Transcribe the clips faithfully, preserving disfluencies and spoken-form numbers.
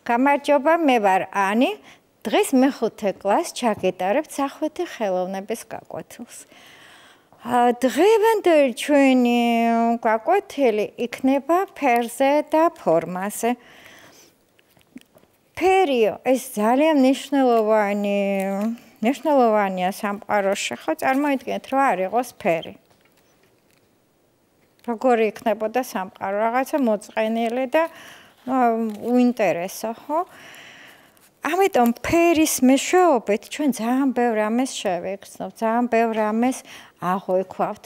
გამარჯობა, მე ვარ ანი. დღეს მეხუთე კლასს ჩაგეტარებთ სახვითი ხელოვნების გაკვეთილს. დღევანდელი ჩვენი გაკვეთილი იქნება ფერზე და ფორმაზე. ფერი ეს ძალიან მნიშვნელოვანი მნიშვნელოვანია სამყაროში, ხო, წარმოიდგინეთ, რა არ იყოს ფერი. როგორი იქნებოდა სამყარო, რაღაცა მოწყენილი და უინტერესო, ხო? ამიტომ ფერის მეშვეობით ჩვენ ძალიან ბევრ რამეს შევექცნობთ, ძალიან ბევრ რამეს აღვიქვავთ.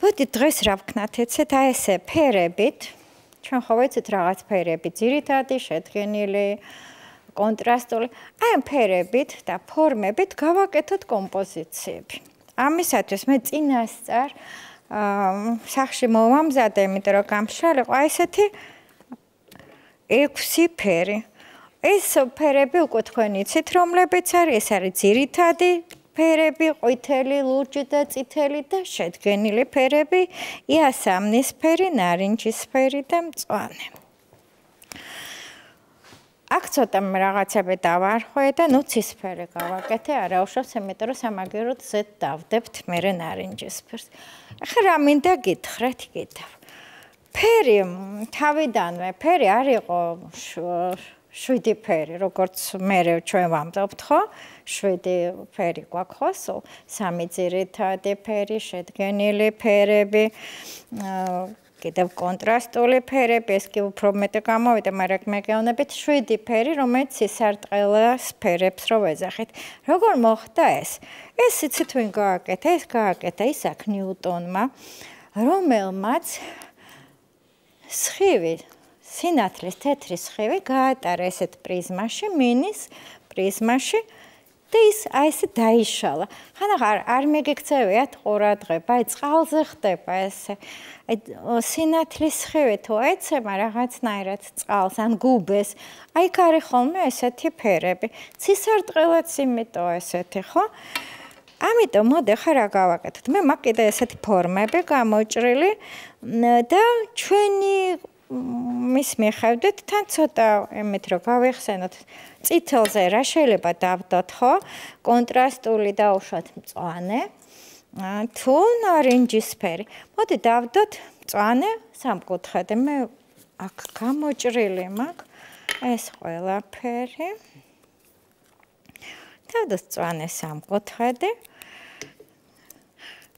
ბოდი დღეს რა ვქნათ, ეცეთ აი ესე ფერებით, ჩვენ ხო ვიცით რაღაც ფერები, ძირითადი, შედგენილი, კონტრასტული, აი ამ ფერებით და ფორმებით გავაკეთოთ კომპოზიციები. ამისათვის მე წინასწარ სახში მოვამზადე, იმიტომ რომ გამშრალიყო აი ესეთი ექვსი ფერი. ეს ფერები უკვე თქვენ იცით, რომლებიც არის, ეს არის ძირითადი ფერები, ყვითელი, ლურჯი და წითელი და შედგენილი ფერები, იასამნისფერი, ნარინჯისფერი და მწვანე. აქ ცოტა რაღაცები დავარღვე და ნუ ცისფერი გავაკეთე, არა უშავს, იმიტომ რომ სამაგიეროდ ზედ დავდებთ მერე ნარინჯისფერს. ახლა რა მინდა გითხრათ კიდევ. ფერი თავიდანვე ფერი არ იყო შვიდი ფერი, როგორც მე ჩვენ ვამბობთ, ხო? შვიდი ფერი გვაქვს, ხო? სულ სამი ძირითადი ფერი, შედგენილი ფერები, კიდევ კონტრასტული ფერები, ეს კი უფრო მეტი გამოვიდა, მაგრამ მე გეუბნებით შვიდი ფერი, რომელიც სისარტყელას ფერებს რო ვეძახით. როგორ მოხდა ეს? ეს იცით ვინ გააკეთა? ეს გააკეთა ისააკ ნიუტონმა, რომელმაც სხივი, სინათლის თეთრი სხივი გაატარა ესეთ პრიზმაში, მინის პრიზმაში და ის აი ესე დაიშალა. ხანახარ არ მიგექცევიათ ყურადღება, აი წყალზე ხდება ესე. აი სინათლის სხივი თუ ეცემა რაღაცნაირად წყალს ან გუბეს, აი იქ არის ხოლმე ესეთი ფერები. ცისარტყელაც იმიტომ ესეთი, ხო? ამიტომ მოდი ხა რა გავაკეთოთ. მე მაქვს კიდე ესეთი ფორმები გამოჭრილი და ჩვენი მის მიხედვით თან ცოტა იმით რომ გავიხსენოთ წითელზე რა შეიძლება დავდოთ, ხო? კონტრასტული დაუშვათ მწვანე თუ ნარინჯისფერი. მოდი დავდოთ მწვანე სამკუთხედი. მე აქ გამოჭრილი მაქვს ეს ყველაფერი. დავდოთ მწვანე სამკუთხედი.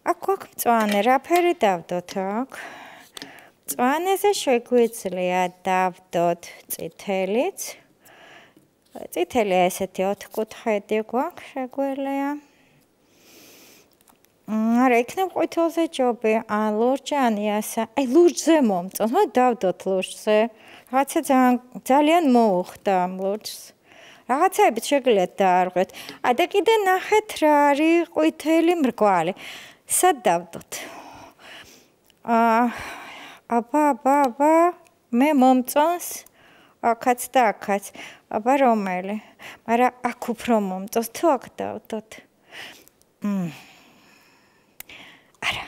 აქ გვაქვს მწვანე, რა ფერი დავდოთ აქ? მწვანეზე შეგვიძლია დავდოთ წითელიც. წითელი ესეთი ოთხკუთხედი გვაქვს შეგვიძლია. არა, იქნებ ყვითელზე ჯობი, ან ლურჯი, ან იასა. აი ლურჯზე მომწონს, მოდი დავდოთ ლურჯზე. რაღაცა ძალიან ძალიან მოუხდა ამ ლურჯს. რაღაცაებით შეგიძლიათ დაარღვეთ. ა და კიდე ნახეთ რა არის ყვითელი მრგვალი. სად დავდოთ? აა აბა, აბა, აბა, მე მომწონს აქაც და აქაც. აბა რომელი? მაგრამ აქ უფრო მომწონს, თუ აქ დავდოთ. მმ. არა,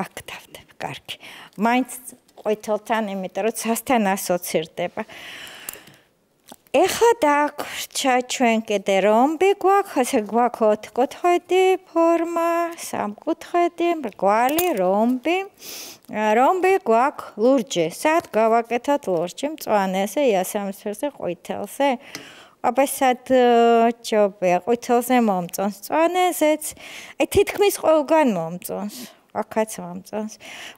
აქ დავდებ, კარგი. მაინც ყვითელთან, იმიტომ რომ ცასთან ასოცირდება. ეხლა დაგვრჩა ჩვენ კიდე რომბი გვაქვს, ასე გვაქვს ოთხკუთხედი ფორმა, სამკუთხედი, მრგვალი, რომბი. რომბი გვაქვს ლურჯი. სად გავაკეთოთ ლურჯი? მწვანეზე, იასამნისფერზე, ყვითელზე. აბა სად ჯობია, ყვითელზე მომწონს, მწვანეზეც. აი თითქმის ყველგან მომწონს. აქაც მომწონს.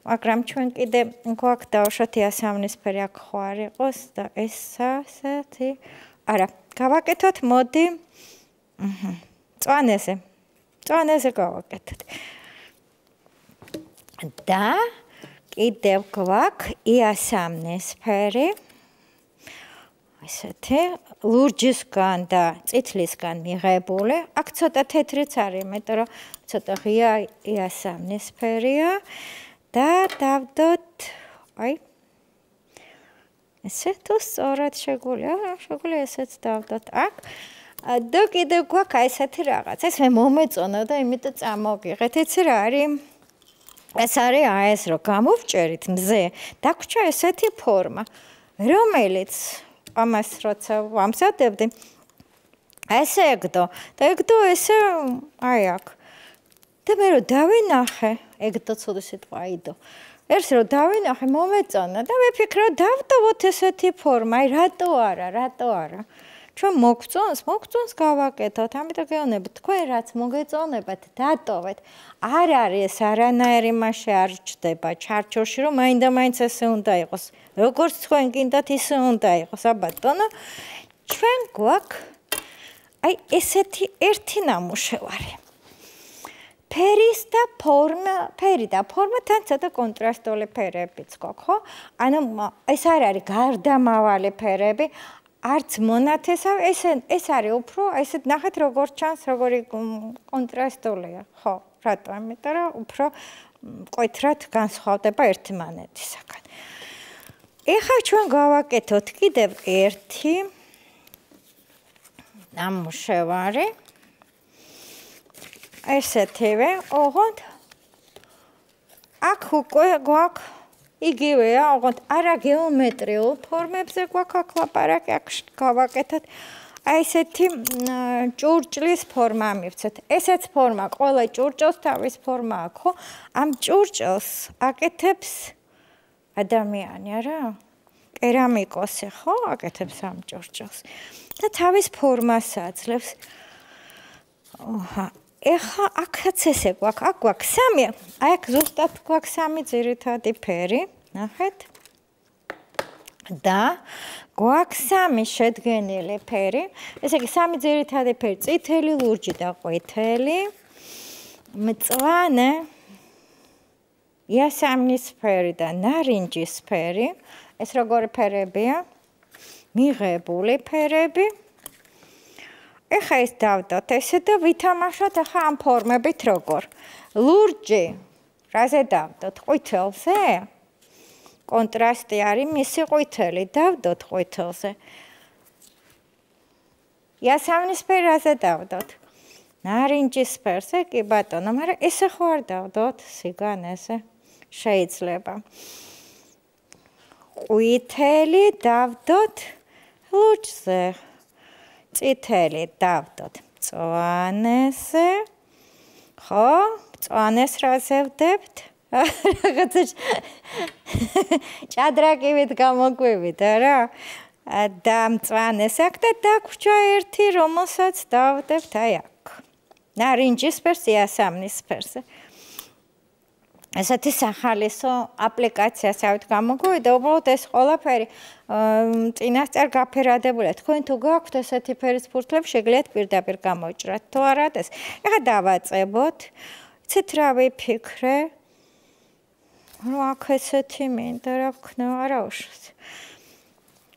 მაგრამ ჩვენ კიდე გვაქვს დავუშვათ იასამნისფერი, აქ ხო არ იყოს და ეს ასეთი. არა, გავაკეთოთ, მოდი. აჰა. მწვანეზე. მწვანეზე გავაკეთოთ. და კიდევ გვაქვს იასამნისფერი. ესეთი ლურჯისგან და წითლისგან მიღებული. აქ ცოტა თეთრიც არის, იმიტომ რომ ცოტა ღია იასამნისფერია და დავდოთ, აი ესე თუ სწორად შეგვიძლია, შეგვიძლია ესეც დავდოთ აქ. და კიდევ გვაქვს აი ესეთი რაღაც. ეს მე მომეწონა და იმიტომ წამოვიღეთ. იცი რა არის? ეს არის აი ეს რომ გამოვჭერით მზე, დაგვრჩა ესეთი ფორმა, რომელიც ამას როცა ვამზადებდი, ესე ეგდო და ეგდო ესე აი აქ. და მე რომ დავინახე, ეგდო ცუდი სიტყვა აიდო. ერთს რომ დავინახე, მომეწონა და ვიფიქრე რომ დავტოვოთ ესეთი ფორმა, აი რატო არა, რატო არა. ჩვენ მოგწონს, მოგწონს გავაკეთოთ, ამიტომ გეუბნები, თქვენ რაც მოგეწონებათ, დატოვეთ. არ არის არანაირი მასე არ ჩდება ჩარჩოში, რომ მაინდა-მაინც ესე უნდა იყოს. როგორც თქვენ გინდათ, ისე უნდა იყოს, აბატონო. ჩვენ გვაქვს აი ესეთი ერთი ნამუშევარი. ფერის და ფორმა, ფერი და ფორმა თან ცოტა კონტრასტული ფერებიც გვაქვს, ხო? ანუ ეს არ არის გარდამავალი ფერები. არც მონათესავე, ეს ეს არის უფრო, ესეთ ნახეთ როგორ ჩანს, როგორი კონტრასტულია, ხო, რატო? იმიტომ რომ უფრო მკვეთრად განსხვავდება ერთმანეთისაგან. ეხლა ჩვენ გავაკეთოთ კიდევ ერთი ნამუშევარი. ესეთივე, ოღონდ აქ უკვე გვაქვს იგივეა, ოღონდ არა გეომეტრიულ ფორმებზე გვაქვს აქ ლაპარაკი, აქ გავაკეთოთ. აი ესეთი ჭურჭლის ფორმა მივცეთ. ესეც ფორმა, ყველა ჭურჭელს თავის ფორმა აქვს, ხო? ამ ჭურჭელს აკეთებს ადამიანი, არა? კერამიკოსი, ხო? აკეთებს ამ ჭურჭელს. და თავის ფორმას აძლევს. ოჰა, ეხლა აქაც ესე გვაქვს, აქ გვაქვს სამი, აი აქ ზუსტად გვაქვს სამი ძირითადი ფერი, ნახეთ. და გვაქვს სამი შედგენილი ფერი, ესე იგი სამი ძირითადი ფერი, წითელი, ლურჯი და ყვითელი, მწვანე, იასამნისფერი და ნარინჯისფერი, ეს როგორი ფერებია? მიღებული ფერები. ეხა ეს დავდოთ ესე და ვითამაშოთ ახლა ამ ფორმებით როგორ. ლურჯი, რაზე დავდოთ? ყვითელზე? კონტრასტი არის მისი ყვითელი, დავდოთ ყვითელზე. იასამნისფერი რაზე დავდოთ? ნარინჯისფერზე, კი ბატონო, მაგრამ ესე ხო არ დავდოთ სიგანეზე? შეიძლება. ყვითელი დავდოთ ლურჯზე. წითელი დავდოთ მწვანეზე, ხო? მწვანეს რაზე ვდებთ? რაღაცა ჭადრაკივით გამოგვივით, არა? და მწვანეს აქ და დაგვრჩა ერთი, რომელსაც დავდებთ აი აქ. ნარინჯისფერს, იასამნისფერზე. ესეთი სახალისო აპლიკაციასავით გამოგვივიდა, უბრალოდ ეს ყველაფერი წინასწარ გაფერადებულია. თქვენ თუ გაქვთ ესეთი ფერის ფურთლები, შეგიძლიათ პირდაპირ გამოიჭრათ. თუ არა, ეს ეხლა დავაწებოთ. იცით რა ვიფიქრე? რომ აქ ესეთი მინდა რა ვქნა, არა უშავს.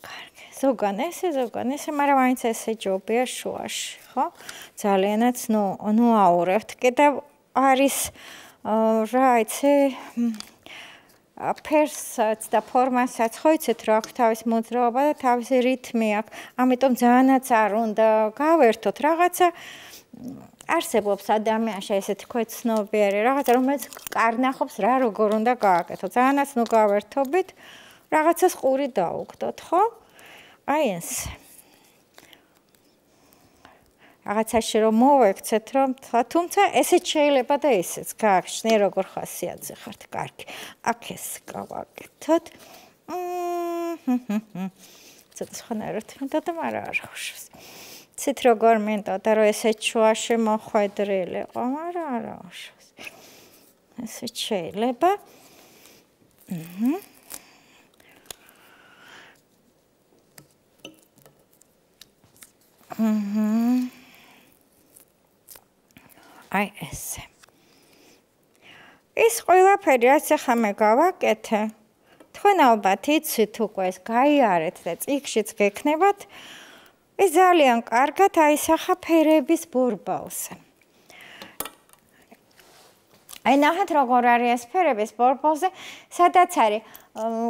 კარგი, ზოგან ესე, ზოგან ესე, მაგრამ მაინც ესე ჯობია შუაში, ხო? ძალიანაც ნუ ნუ აურევთ. კიდევ არის რა იცი ფერსაც და ფორმასაც ხო იცით რა აქვს თავის მოძრაობა და თავისი რითმი აქვს. ამიტომ ძალიანაც არ უნდა გავერთოთ რაღაცა არსებობს ადამიანში ესეთი ქვეთ ცნობიერი რაღაცა რომელიც კარნახობს რა როგორ უნდა გააკეთოთ. ძალიანაც ნუ გავერთობით რაღაცას ყური დაუგდოთ, ხო? აი ეს რაღაცაში რომ მოვექცეთ რომ თუმცა ესეც შეიძლება და ესეც გააგჩნია როგორ ხასიათზე ხართ. კარგი. აქ ეს გავაკეთოთ. ცოტა სხვანაირად მინდა და მაგრამ არ ხუშავს. ცით როგორ მინდა და რომ ესეც შუაში მოხვედრილიყო, მაგრამ არ ხუშავს. ესეც შეიძლება. აჰა. აჰა. აი ესე. ეს ყველაფერი რაც ახლა მე გავაკეთე, თქვენ ალბათ იცით უკვე ეს გაიარეთ და წიგნშიც გექნებათ, ეს ძალიან კარგად აისახა ფერების ბორბალზე. აი ნახეთ როგორ არის ეს ფერების ბორბალზე, სადაც არის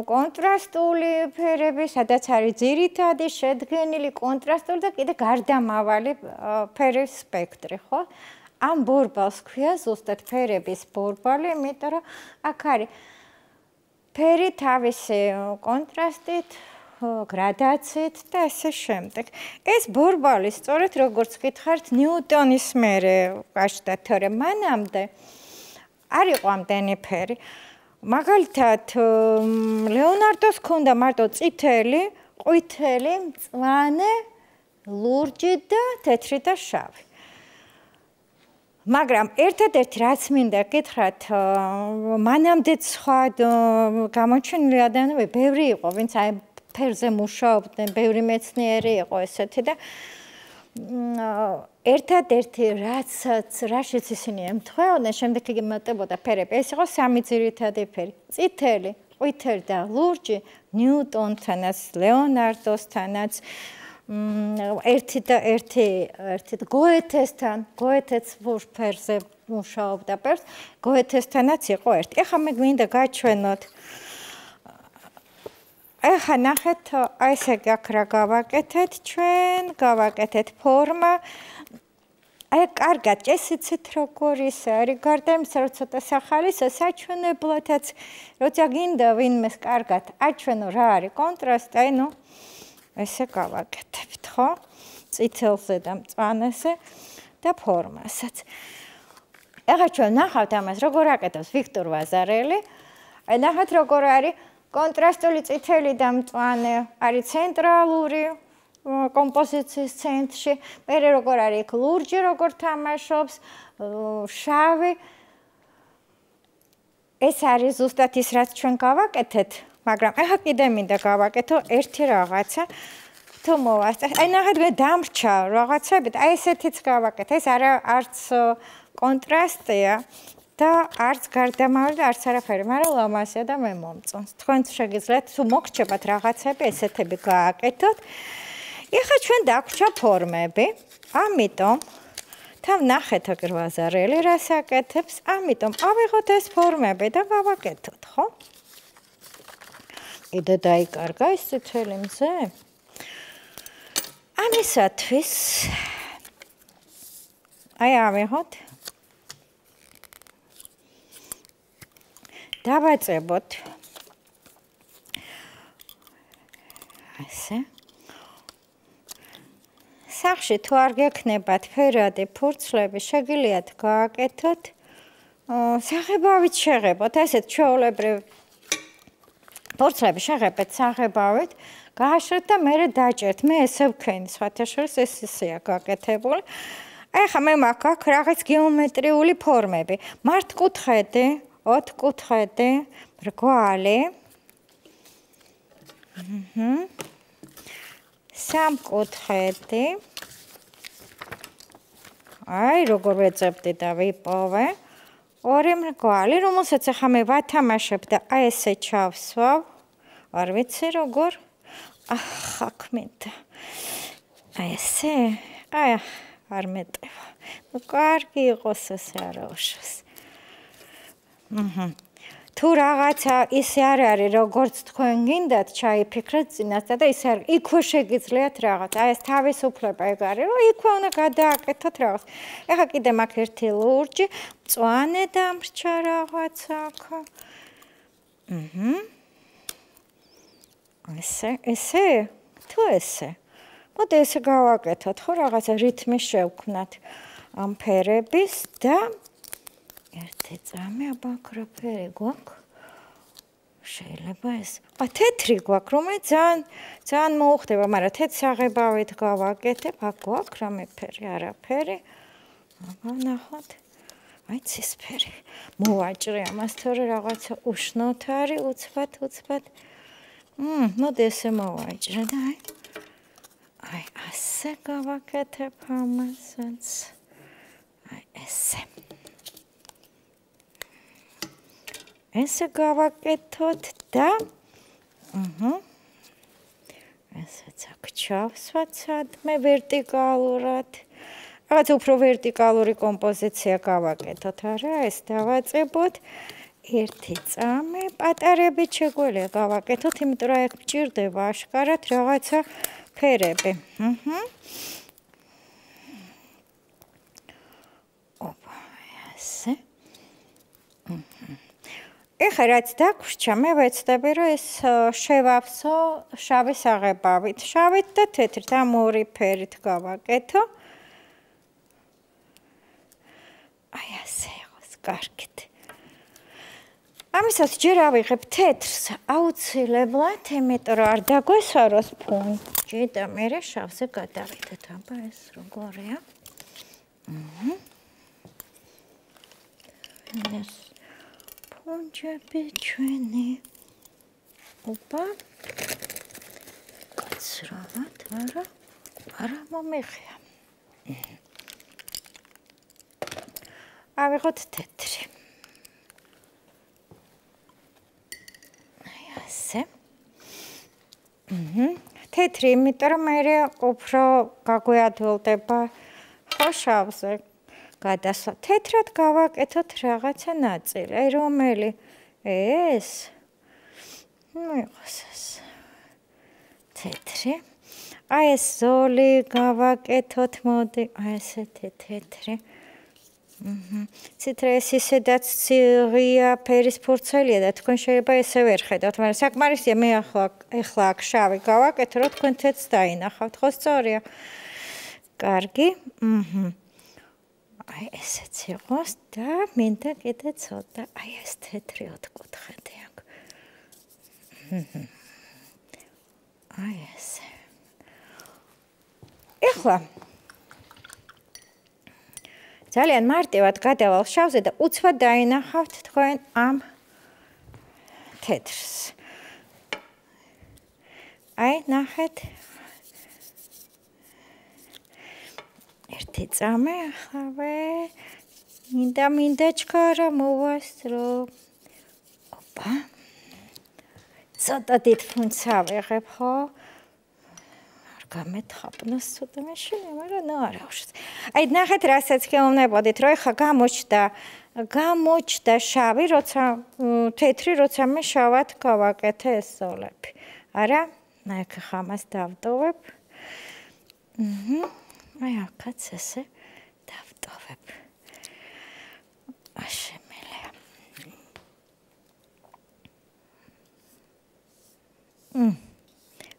კონტრასტული ფერები, სადაც არის ძირითადი, შედგენილი, კონტრასტული და კიდე გარდამავალი ფერის სპექტრი, ხო? ამ ბორბალს ქვია ზუსტად ფერების ბორბალი, იმიტომ რომ აქ არის ფერი თავისი კონტრასტით, გრადაციით და ასე შემდეგ. ეს ბორბალი სწორედ როგორც გითხართ, ნიუტონის მერე გაჩნდა თორემ მანამდე არ იყო ამდენი ფერი. მაგალითად, ლეონარდოს ჰქონდა მარტო წითელი, ყვითელი, მწვანე, ლურჯი და თეთრი და შავი. მაგრამ ერთადერთი რაც მინდა გითხრათ, მანამდე სხვა გამოჩენილი ადამიანები ბევრი იყო, ვინც აი ფერზე მუშაობდნენ, ბევრი მეცნიერი იყო ესეთი და ერთადერთი რაცაც რაშიც ისინი ემთხვეოდნენ, შემდეგ იგი მატებოდა ფერები. ეს იყო სამი ძირითადი ფერი. წითელი, ყვითელი და ლურჯი ნიუტონთანაც, ლეონარდოსთანაც, ერთი და ერთი ერთი გოეთესთან, გოეთეც ფერზე მუშაობდა ფერს, გოეთესთანაც იყო ერთი. ეხლა მე გვინდა გაჩვენოთ. ეხლა ნახეთ, აი ესე აქ რა გავაკეთეთ ჩვენ, გავაკეთეთ ფორმა. აი კარგად წესიცით როგორ ის არის, გარდა იმისა, რომ ცოტა სახალისო საჩვენებლათაც, როცა გინდა ვინმეს კარგად აჩვენო რა არის კონტრასტი, აი ნუ ესე გავაკეთებთ, ხო? წითელზე და მწვანეზე და ფორმასაც. ეხლა ჩვენ ნახავთ ამას, როგორ აკეთებს ვიქტორ ვაზარელი. აი ნახეთ როგორ არის კონტრასტული წითელი და მწვანე, არის ცენტრალური კომპოზიციის ცენტრში. მერე როგორ არის იქ ლურჯი როგორ თამაშობს, შავი. ეს არის ზუსტად ის რაც ჩვენ გავაკეთეთ, მაგრამ ეხლა კიდე მინდა გავაკეთო ერთი რაღაცა. თუ მოვასწრებ, აი ნახეთ მე დამრჩა რაღაცებით, აი ესეთიც გავაკეთე. ეს არა არც კონტრასტია და არც გარდამავალი და არც არაფერი, მაგრამ ლამაზია და მე მომწონს. თქვენც შეგიძლიათ თუ მოგრჩებათ რაღაცები ესეთები გააკეთოთ. ეხლა ჩვენ დაგვჭა ფორმები, ამიტომ თან ნახეთ აგერ ვაზარელი რას აკეთებს, ამიტომ ავიღოთ ეს ფორმები და გავაკეთოთ, ხო? კიდე დაიკარგა ეს წითელი მზე? ამისათვის აი ავიღოთ. დავაწებოთ ასე. სახში თუ არ გექნებათ ფერადი ფურცლები, შეგიძლიათ გააკეთოთ საღებავით შეღებოთ, ესეთ ჩვეულებრივ ფურცლები შეღებეთ საღებავით, გააშრეთ და მერე დაჭერთ. მე ესე ვქენი, სხვათა შორის ეს ისეა გაკეთებული. ეხლა მე მაქვს აქ რაღაც გეომეტრიული ფორმები. მართკუთხედი, ოთხკუთხედი, მრგვალი. აჰა. სამკუთხედი. აი, როგორ ვეძებდი და ვიპოვე. ორი მრგვალი, რომელსაც ახლა მე ვათამაშებ და აი ესე ჩავსვავ. არ ვიცი როგორ. ახ, აქ მინდა. აი ესე. აი, არ მეტევა. ნუ კარგი იყოს ესე არა უშავს. აჰა. თუ რაღაცა ისე არ არის, როგორც თქვენ გინდათ, ჩაიფიქრეთ წინასწარ და ისე არ იქვე შეგიძლიათ რაღაც. აი ეს თავისუფლება ეგ არის, რომ იქვე უნდა გადააკეთოთ რაღაც. ეხლა კიდე მაქვს ერთი ლურჯი, მწვანე დამრჩა რაღაცა აქ. აჰა. ესე, ესე? თუ ესე? მოდი ესე გავაკეთოთ, ხო რაღაცა რითმი შევქმნათ ამ ფერების და ერთი წამი აბაქრა ფერი გვაქვს. შეიძლება ეს. ა თეთრი გვაქვს, რომელიც ძალიან ძალიან მოუხდება, მაგრამ თეთრ საღებავით გავაკეთებ. აქ გვაქვს რამე ფერი, არაფერი. აბა ნახოთ. აი ცისფერი. მოვაჭრე ამას, თორე რაღაცა უშნოთ არის, უცბად, უცბად. მმ, მოდი ესე მოვაჭრე და აი. აი ასე გავაკეთებ ამასაც. აი ესე. ესე გავაკეთოთ და აჰა. ესეც აქ ჩავსვათ სადმე ვერტიკალურად. რაღაც უფრო ვერტიკალური კომპოზიცია გავაკეთოთ, არა? ეს დავაწებოთ. ერთი წამი პატარებით შეგვიძლია გავაკეთოთ, იმიტომ რომ აქ მჭირდება აშკარად რაღაცა ფერები. აჰა. ოპ. ასე. ეხლა რაც დაგვრჩა, მე ვეცდები, რომ ეს შევავსო შავი საღებავით, შავით და თეთრით, ამ ორი ფერით გავაკეთო. აი ასე იყოს, კარგით. ამისაც ჯერ ავიღებ თეთრს აუცილებლად, იმიტომ რომ არ დაგვესვაროს ფუნჯი და მერე შავზე გადავიდეთ. აბა ეს როგორია? აჰა. ეს ფუნჯები ჩვენი. ოპა. კაცრავად, არა, არა მომიღია. ავიღოთ თეთრი. ასე. აჰა. თეთრი, იმიტომ რომ მე უფრო გაგვეადვილდება ხო შავზე გადასვა. თეთრად გავაკეთოთ რაღაცა ნაწილი. აი რომელი? ეს? ნუ იყოს ეს. თეთრი. აი ეს ზოლი გავაკეთოთ, მოდი, აი ესეთი თეთრი. აჰა. ციტრეს ისედაც ცივია ფერის ფურცელია და თქვენ შეიძლება ესე ვერ ხედავთ, მაგრამ საკმარისია მე ახლა ახლა აქ შავი გავაკეთო, რომ თქვენ თეთრს დაინახავთ, ხო სწორია? კარგი. აჰა. აი ესეც იყოს და მინდა კიდე ცოტა, აი ეს თეთრი ოთხკუთხედი აქ. აჰა. აი ესე. ეხლა ძალიან მარტივად გადავალ შავზე და უცბად დაინახავთ თქვენ ამ თეთრს. აი ნახეთ. ერთი წამი ახლა მინდა მინდა ჩქარა მოვასწრო. ოპა. ცოტა დიდ ფუნტს ავიღებ, ხო? გამეთხაპნოს ცოტა მეშინე, მაგრამ ნუ არა უშავს. აი ნახეთ, რასაც გეუბნებოდით, რომ ეხლა გამოჩნდა, გამოჩნდა შავი, როცა თეთრი, როცა მე შავად გავაკეთე ეს ზოლები. არა? აი ახლა ამას დავტოვებ. აჰა. აი აქაც ესე დავტოვებ. აშემელია. მ.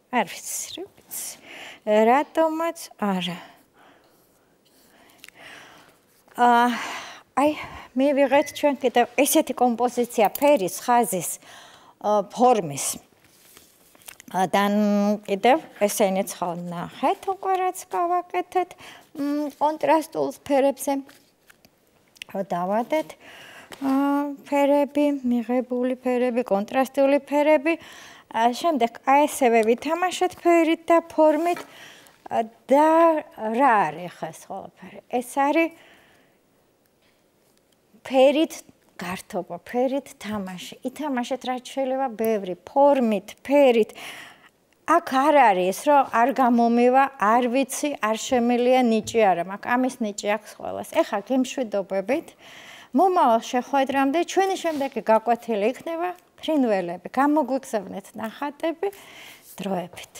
არ ვიცი, რატომაც არა. აა აი მივიღეთ ჩვენ კიდევ ესეთი კომპოზიცია ფერის, ხაზის, ფორმის. და კიდევ ესენიც ხო ნახეთ, უკვე რაც გავაკეთეთ კონტრასტულ ფერებზე. დავადეთ ფერები, მიღებული ფერები, კონტრასტული ფერები. შემდეგ აი ესევე ვითამაშეთ ფერით და ფორმით და რა არის ხა ეს ყველაფერი? ეს არის ფერით გართობა, ფერით თამაში. ითამაშეთ რაც შეიძლება ბევრი ფორმით, ფერით. აქ არ არის რომ არ გამომივა, არ ვიცი, არ შემილია ნიჭი არა, მაგ ამის ნიჭი აქვს ყველას. ეხლა გემშვიდობებით. მომავალ შეხვედრამდე ჩვენი შემდეგი გაკვეთილი იქნება ფრინველები. გამოგვიგზავნეთ ნახატები დროებით.